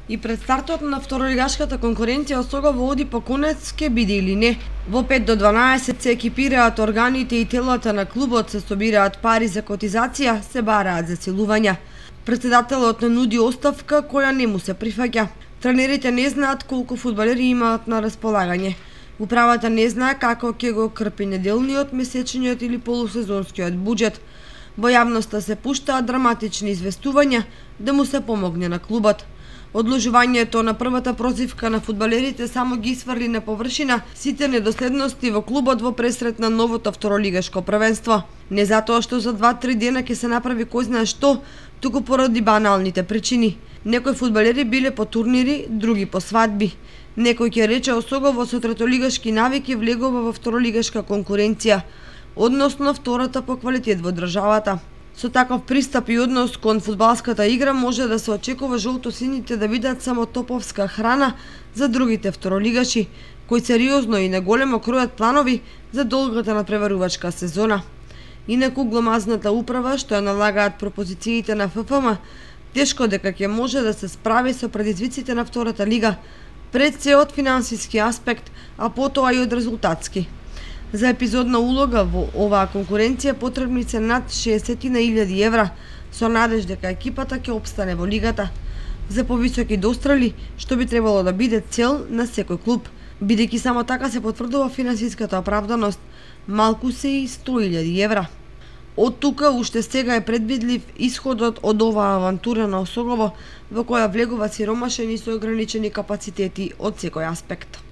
И пред стартот на второлигашката конкуренција Осогово оди по конец ке биде или не. Во 5 до 12 се екипираат органите и телата на клубот, се собираат пари за котизација, се бараат засилувања. Претседателот не нуди оставка која не му се прифаќа. Тренерите не знаат колку фудбалери имаат на располагање. Управата не знае како ќе го крпи неделниот, месечниот или полусезонскиот буџет. Во јавноста се пуштаат драматични известувања да му се помогне на клубот. Одложувањето на првата прозивка на фудбалерите само ги сврли на површина сите недоследности во клубот во пресрет на новото второлигашко првенство. Не затоа што за 2-3 дена ќе се направи кој знае што, туку поради баналните причини. Некои фудбалери биле по турнири, други по свадби. Некој ќе рече Осогово со третолигашки навики влегува во второлигашка конкуренција, односно втората по квалитет во државата. Со таков пристап и однос кон фудбалската игра може да се очекува жолтосините да бидат само топовска храна за другите второлигаши, кои сериозно и наголемо кројат планови за долгата надпреварувачка сезона. Инаку гломазната управа што ја налагаат пропозициите на ФФМ, тешко дека ќе може да се справи со предизвиците на втората лига, пред се од финансиски аспект, а потоа и од резултатски. За епизодна улога во оваа конкуренција потребни се над 60.000 евра, со надеж дека екипата ќе опстане во лигата. За повисоки дострели, што би требало да биде цел на секој клуб, бидејќи само така се потврдува финансиската оправданост, малку се и 100.000 евра. Од тука уште сега е предвидлив исходот од оваа авантура на Осогово, во која влегува сиромашен и со ограничени капацитети од секој аспект.